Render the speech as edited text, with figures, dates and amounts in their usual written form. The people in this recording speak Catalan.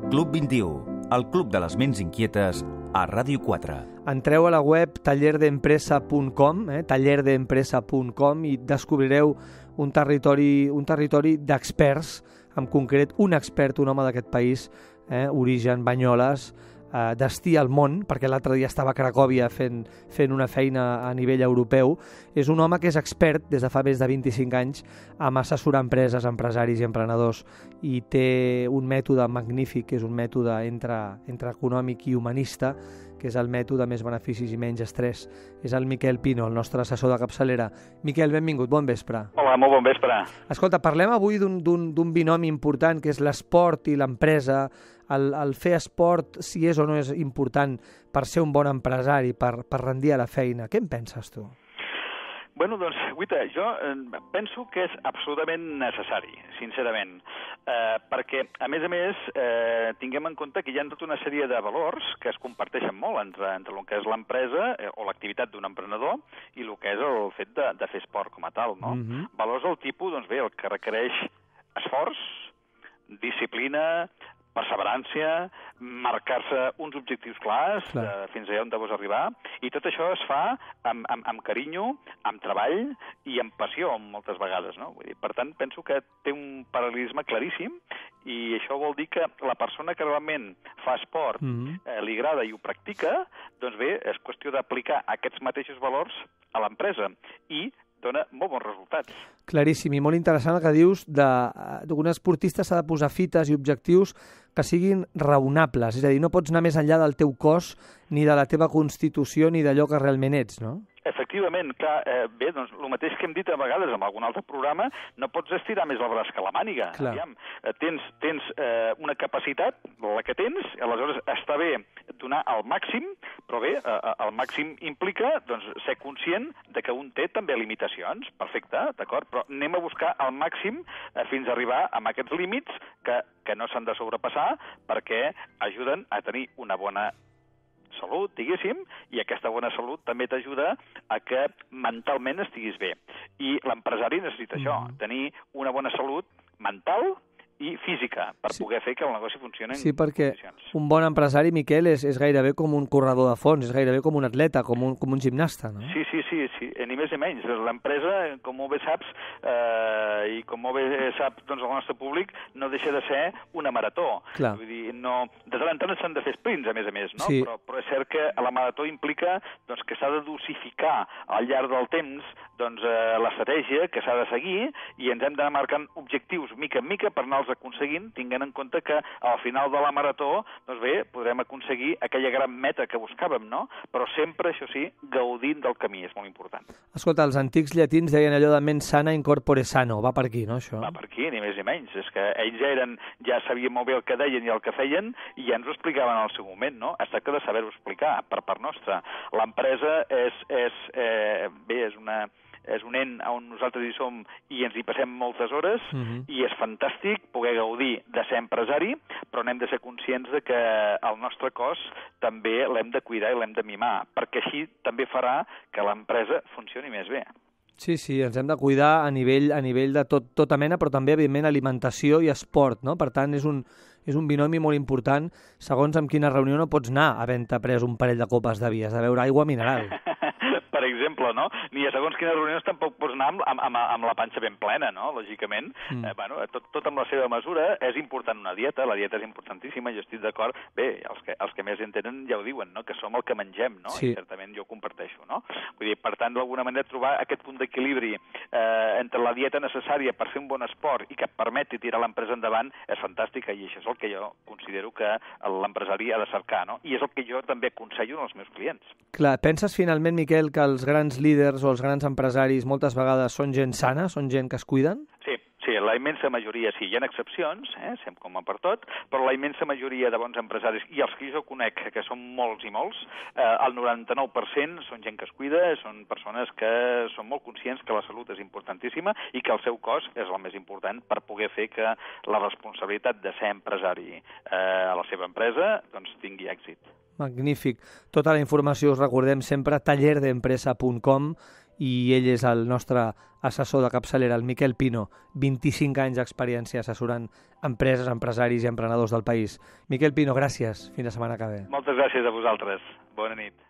Club 21, el club de les ments inquietes a Ràdio 4. Entreu a la web tallerdeempresa.com, tallerdeempresa.com, i descobrireu un territori d'experts, en concret un expert, un home d'aquest país, origen Banyoles, destí al món, perquè l'altre dia estava a Cracòvia fent una feina a nivell europeu. És un home que és expert des de fa més de 25 anys en assessorar empreses, empresaris i emprenedors, i té un mètode magnífic, que és un mètode entre econòmic i humanista, que és el mètode més beneficis i menys estrès. És el Miquel Pino, el nostre assessor de capçalera. Miquel, benvingut, bon vespre. Hola, molt bon vespre. Escolta, parlem avui d'un binomi important, que és l'esport i l'empresa. El fer esport, si és o no és important per ser un bon empresari, per rendir a la feina. Què en penses tu? Bueno, doncs, Guita, jo penso que és absolutament necessari, sincerament, perquè, a més, tinguem en compte que hi ha tota una sèrie de valors que es comparteixen molt entre el que és l'empresa o l'activitat d'un emprenedor i el que és el fet de fer esport com a tal, no? Valors del tipus, doncs bé, el que requereix esforç, disciplina, perseverància, marcar-se uns objectius clars fins allà on vols arribar, i tot això es fa amb carinyo, amb treball i amb passió, moltes vegades, no? Vull dir, per tant, penso que té un paral·lelisme claríssim, i això vol dir que la persona que realment fa esport, li agrada i ho practica, doncs bé, és qüestió d'aplicar aquests mateixos valors a l'empresa, i dona molt bons resultats. Claríssim, i molt interessant el que dius d'un esportista s'ha de posar fites i objectius que siguin raonables, és a dir, no pots anar més enllà del teu cos, ni de la teva constitució, ni d'allò que realment ets, no? Efectivament, clar, bé, doncs el mateix que hem dit a vegades en algun altre programa, no pots estirar més el braç que la màniga. Aviam, tens una capacitat, la que tens, aleshores està bé donar el màxim, però bé, el màxim implica doncs, ser conscient de que un té també limitacions, perfecte, d'acord, però anem a buscar el màxim fins a arribar a aquests límits que no s'han de sobrepassar, perquè ajuden a tenir una bona salut, diguéssim, i aquesta bona salut també t'ajuda a que mentalment estiguis bé. I l'empresari necessita això, tenir una bona salut mental i física, per poder fer que el negoci funcioni en condicions. Perquè un bon empresari, Miquel, és gairebé com un corredor de fons, és gairebé com un atleta, com un gimnasta, no? Sí, ni més ni menys. L'empresa, com molt bé saps, i com molt bé sap doncs, el nostre públic, no deixa de ser una marató. Vull dir, de tant en tant s'han de fer sprints, a més, no? Sí. Però és cert que la marató implica doncs, que s'ha de dosificar al llarg del temps doncs, l'estratègia que s'ha de seguir, i ens hem d'anar marcant objectius mica en mica per anar aconseguint, tinguent en compte que al final de la marató, doncs bé, podrem aconseguir aquella gran meta que buscàvem, no? Però sempre, això sí, gaudint del camí, és molt important. Escolta, els antics llatins deien allò de mens sana in corpore sano, va per aquí, no, això? Va per aquí, ni més ni menys. És que ells ja sabien molt bé el que deien i el que feien, i ja ens ho explicaven al seu moment, no? Es tracta de saber-ho explicar, per part nostra. L'empresa és un ent on nosaltres hi som i ens hi passem moltes hores, i és fantàstic poder gaudir de ser empresari, però n'hem de ser conscients de que el nostre cos també l'hem de cuidar i l'hem de mimar, perquè així també farà que l'empresa funcioni més bé. Sí, ens hem de cuidar a nivell de tota mena, però també, evidentment, alimentació i esport, no? Per tant, és un binomi molt important, segons amb quina reunió no pots anar havent-te pres un parell de copes de vi, has de beure aigua mineral. Per exemple, no? Ni a segons quines reunions tampoc pots anar amb la panxa ben plena, no? Lògicament. Tot amb la seva mesura. És important una dieta, la dieta és importantíssima, jo estic d'acord. Bé, els que més entenen ja ho diuen, no? Que som el que mengem, no? Sí. I certament jo ho comparteixo, no? Vull dir, per tant, d'alguna manera trobar aquest punt d'equilibri entre la dieta necessària per fer un bon esport i que et permeti tirar l'empresa endavant és fantàstica, i això és el que jo considero que l'empresari ha de cercar, no? I és el que jo també aconsello als meus clients. Clar, penses finalment, Miquel, que els grans líders o els grans empresaris moltes vegades són gent sana, són gent que es cuiden? Sí, la immensa majoria sí. Hi ha excepcions, sempre com per tot, però la immensa majoria de bons empresaris, i els que jo conec, que són molts i molts, el 99% són gent que es cuida, són persones que són molt conscients que la salut és importantíssima i que el seu cos és el més important per poder fer que la responsabilitat de ser empresari a la seva empresa doncs tingui èxit. Magnífic. Tota la informació, us recordem sempre, tallerdeempresa.com, i ell és el nostre assessor de capçalera, el Miquel Pino, 25 anys d'experiència assessorant empreses, empresaris i emprenedors del país. Miquel Pino, gràcies. Fins la setmana que ve. Moltes gràcies a vosaltres. Bona nit.